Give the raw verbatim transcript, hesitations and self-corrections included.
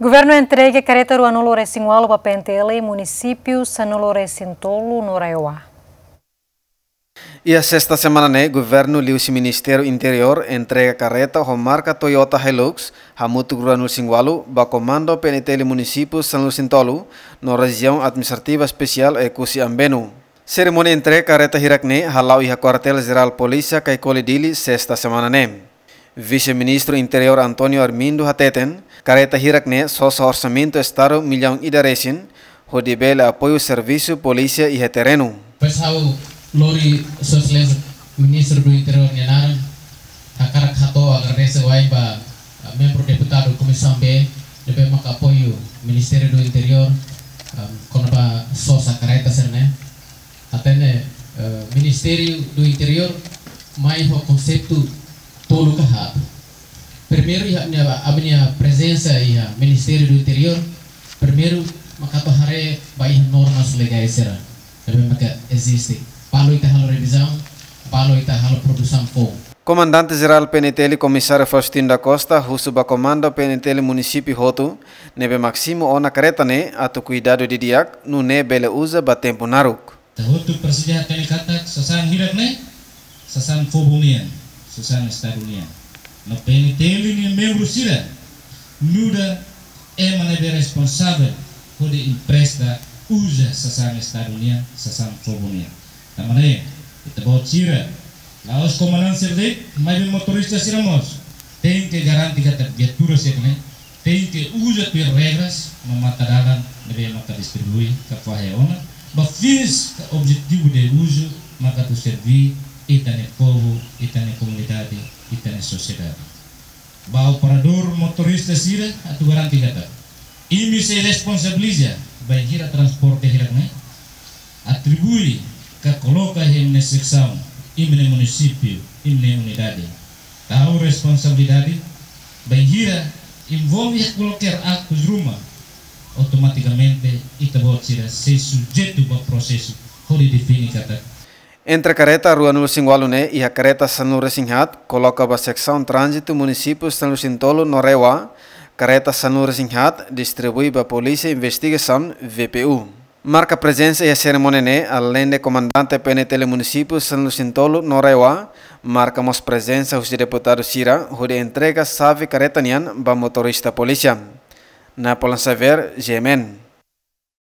Governu entrega kareta ruanulu resin ualu ba P N T L munisípiu sanulu resin tolu no RAEOA. Iha sesta semana ne'e, governu liuhusi Ministériu Interiór entrega kareta ho marka Toyota Hilux hamutuk ruanulu resin ualu ba Komandu P N T L munisípiu sanulu resin tolu no Rejiaun Administrativa Espesiál Oekusi Ambenu. Serimónia entrega kareta hirak ne'e hala'o iha Kuartél Jerál Polísia Caicoli Dili, sesta semana ne'e. Vise-Ministru Interiór António Armindo hateten, kareta hirak ne'e sosa orsamentu Estadu millaun ida resin, hodi bele apoiu servisu polísia iha terrenu. Depois ha'u lori Sua Exelénsia Ministru do Interiór nia naran, hakarak hato'o agradese wa'in ba, ah, membru deputadu Komisaun B, ne'ebé maka apoiu Ministériu do Interiór, ah, kona-ba sosa kareta sira-ne'e. Hatene, eh, Ministériu do Interiór mai ho konseitu tolu ka haat. Primeiru, iha ami-nia, ami-nia prezensa iha Ministériu do Interiór, primeiru, maka bá haree ba iha normas legais sira ne'ebé maka eziste. Balu ita halo revizaun, balu ita halo produsaun foun. Komandante Jerál P N T L Komisáriu Faustino da Costa husu ba Komandu P N T L munisípiu hotu ne'ebé mak simu ona kareta ne'e atu kuidadu didi'ak, nune'e bele uza ba tempu naruk. Ita hotu presiza hatene katak sasán hirak ne'e sasán povu nian, sasán Estadu nian. No P N T L nia membru sira nu'udar ema ne'ebé responsavel hodi empresta uza sasán Estadu nian, sasán povu nian. Tanba ne'e, ita-boot sira, la'ós komandante sira de'it, maibé motorista sira mós tenke garante katak viatura sira-ne'e tenke uza tuir regras no matadalan ne'ebé maka distribui ka fahe ona ba fins ka objetivu de uzu maka atu serví ita-nia povu, ita-nia komunidade, ita-nia sosiedade. Ba operadór motorista sira atu garante katak imi sei responsabiliza bainhira transporte hirak ne'e atribui ka koloka iha imi-nia seksaun, imi-nia munisípiu, imi-nia unidade. Tau responsabilidade, bainhira envolve iha kualkér aktus ruma, automatikamente ita-boot sira sei sujeitu ba prosesu hodi define katak. Entre kareta ruanulu resin ualu ne'e iha kareta sanulu resin haat koloka ba seksaun tránzitu munisípiu sanulu resin tolu no RAEOA, kareta sanulu resin haat distribui ba Polísia Investigasaun, V P U. Marka prezensa iha serimónia ne'e, aleinde Komandante P N T L munisípiu sanulu resin tolu no RAEOA, marka mós prezensa husi deputadu sira hodi entrega xave kareta nian ba motorista polísia. Napoleon Xavier, G M N.